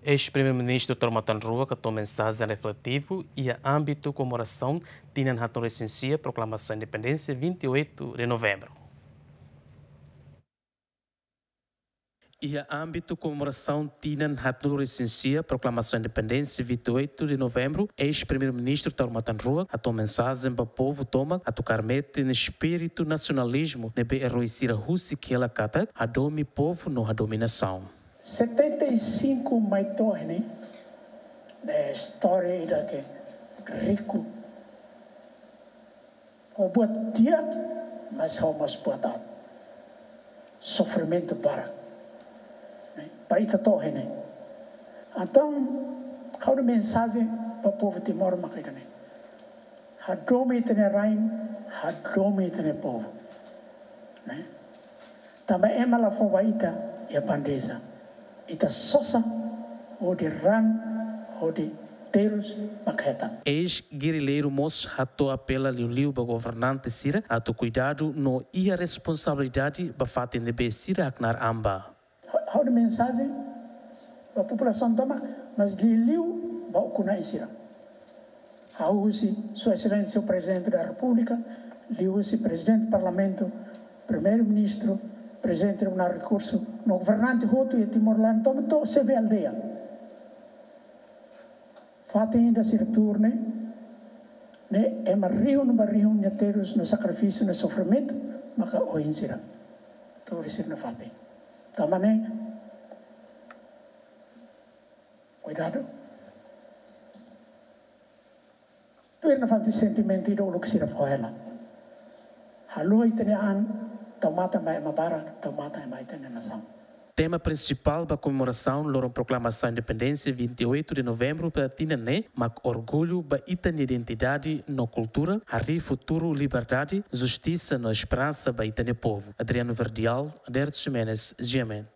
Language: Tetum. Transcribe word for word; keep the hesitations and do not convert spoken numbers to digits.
Eis-Primeiru-Ministru Taur Matan Ruak hato'o mensajen refletivu iha ámbitu komemorasaun tinan haatnulu-resin-sia Proklamasaun Independénsia, vinte e oito de Novembro. Iha ámbitu komemorasaun tinan haatnulu-resin-sia Proklamasaun Independénsia, vinte e oito de Novembro, eis-Primeiru-Ministru Taur Matan Ruak hato'o mensajen ba povu tomak atu kaer metin espíritu nasionalizmu ne'ebé eroi sira husik hela katak hadomi povu no hadomi nasaun. Setenta e cinco mai to'o iha ne'e, ne'e istória ida ke riku. Ho buat di'ak, mas ho mós buat aat. Sofrimentu barak. Ne'e, para ita to'o iha ne'e. Entaun, ha'u-nia mensajen ba povu Timor maka ida-ne'e. Hadomi ita-nia rain, hadomi ita-nia povu. Ne'e? Tanba ema la fó ba ita iha bandeja. Ita sosa hodi raan, hodi terus mak hetan. Eis-gerilleiru mós hato'o apela liuliu ba governante sira atu kuidadu no iha responsabilidade ba fatin ne'ebé sira haknaar an ba. Ha'u-nia mensajen ba populasaun tomak, mas liuliu ba ukun-na'in sira. Ha'u husi Sua Exelénsia Prezidente da Repúblika, liuhusi Prezidente Parlamentu, Primeiru-Ministru, Prezidente Tribunál Rekursu, no governante hotu iha Timor-Leste tomak to'o xefe aldeia. Fatin ida sira tuur ne'e, ne'e ema rihun ba rihun nia terus no sakrifísiu no sofrimentu, maka oin sira tuur iha sira-nia fatin. Tanba ne'e, kuidadu. Tuir nafatin sentimentu ida uluk sira fó hela. Haluha ita-nia an, tau matan ba ema barak, tau matan ba ita-nia nasaun. Tema prinsipál ba komemorasaun loron Proklamasaun Independénsia, vinte e oito de Novembro, ba tinan ne'e mak orgullu ba ita-nia identidade no kultura, harii futuru liberdade, justisa no esperansa ba ita-nia povu. Adriano Verdial, Aderto Ximenes, G M N.